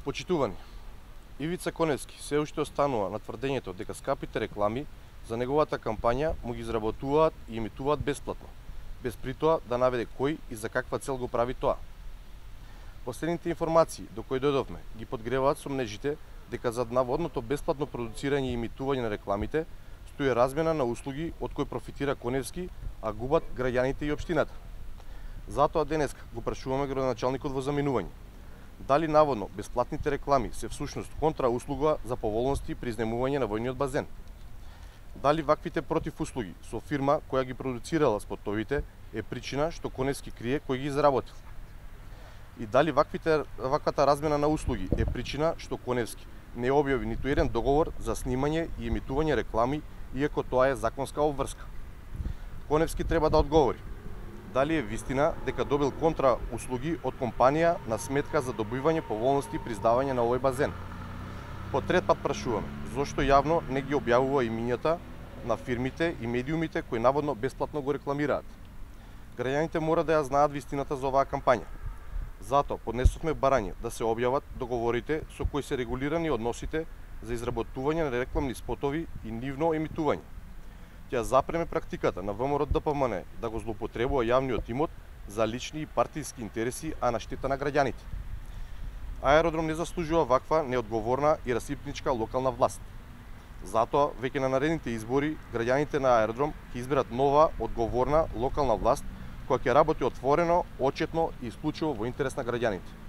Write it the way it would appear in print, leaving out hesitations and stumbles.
Почитувани, Ивица Коневски се уште останува на тврдењето дека скапите реклами за неговата кампања му ги изработуваат и емитуваат бесплатно, без притоа да наведе кој и за каква цел го прави тоа. Последните информации до кои дојдовме ги подгреваат сомнежите дека зад наводното бесплатно продуцирање и емитување на рекламите стои размена на услуги од кои профитира Коневски, а губат граѓаните и општината. Затоа денеска го прашуваме градоначалникот во заминување. Дали наводно бесплатните реклами се всушност контрауслуга за поволности при изнемување на војниот базен? Дали ваквите противуслуги со фирма која ги продуцирала спотовите е причина што Коневски крие кој ги изработил? И дали ваквата размена на услуги е причина што Коневски не објави ниту еден договор за снимање и емитување реклами, иако тоа е законска обврска? Коневски треба да одговори дали е вистина дека добил контрауслуги од компанија на сметка за добивање поволности при издавање на овој базен. По трет пат прашуваме, зошто јавно не ги објавува имињата на фирмите и медиумите кои наводно бесплатно го рекламираат? Граѓаните мора да ја знаат вистината за оваа кампања. Затоа поднесовме барање да се објават договорите со кои се регулирани односите за изработување на рекламни спотови и нивно емитување. Ќе запреме практиката на ВМРО ДПМН да го злоупотребува јавниот имот за лични и партиски интереси, а на штета на граѓаните. Аеродром не заслужува ваква неодговорна и расипничка локална власт. Затоа, веќе на наредните избори, граѓаните на аеродром ќе изберат нова, одговорна локална власт која ќе работи отворено, отчетно и исклучиво во интерес на граѓаните.